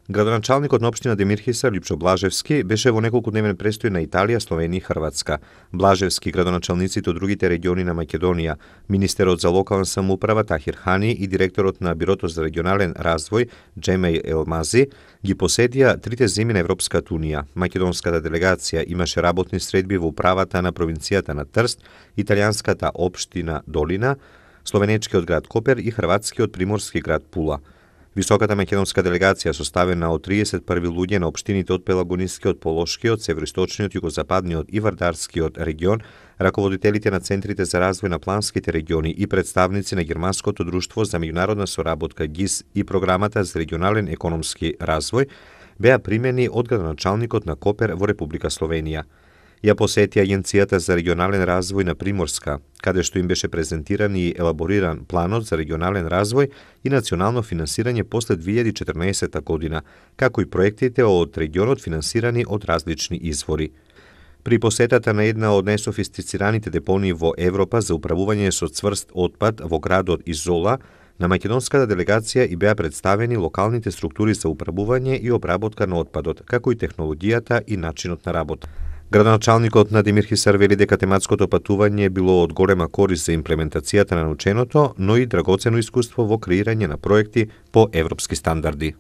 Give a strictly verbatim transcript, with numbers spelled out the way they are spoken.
Градоначалникот на општина Демирхисар Липчо Блажевски беше во неколкудневен престој на Италија, Словенија и Хрватска. Блажевски, градоначалниците од другите региони на Македонија, министерот за локална самоуправа Тахир Хани и директорот на Бирото за регионален развој Џемеј Елмази ги посетија трите земји на Европската унија. Македонската делегација имаше работни средби во управата на провинцијата на Трст, италијанската општина Долина, словенечкиот град Копер и хрватскиот приморски град Пула. Високата македонска делегација составена од триесет и први луѓе на општините од Пелагонискиот, Полошкиот, Североисточниот, Југозападниот и Вардарскиот регион, раководителите на центрите за развој на планските региони и представници на Германското друштво за меѓународна соработка ГИС и програмата за регионален економски развој, беа примени од градоначалникот на Копер во Република Словенија. Ја посети Агенцијата за регионален развој на Приморска, каде што им беше презентиран и елабориран планот за регионален развој и национално финансирање после две илјади и четрнаесетта година, како и проектите од регионот финансирани од различни извори. При посетата на една од најсофистицираните депонии во Европа за управување со цврст отпад во градот Изола, на македонската делегација и беа представени локалните структури за управување и обработка на отпадот, како и технологијата и начинот на работа. Градоначалникот на Демирхисар вели дека тематското патување било од голема корист за имплементацијата на наученото, но и драгоцено искуство во креирање на проекти по европски стандарди.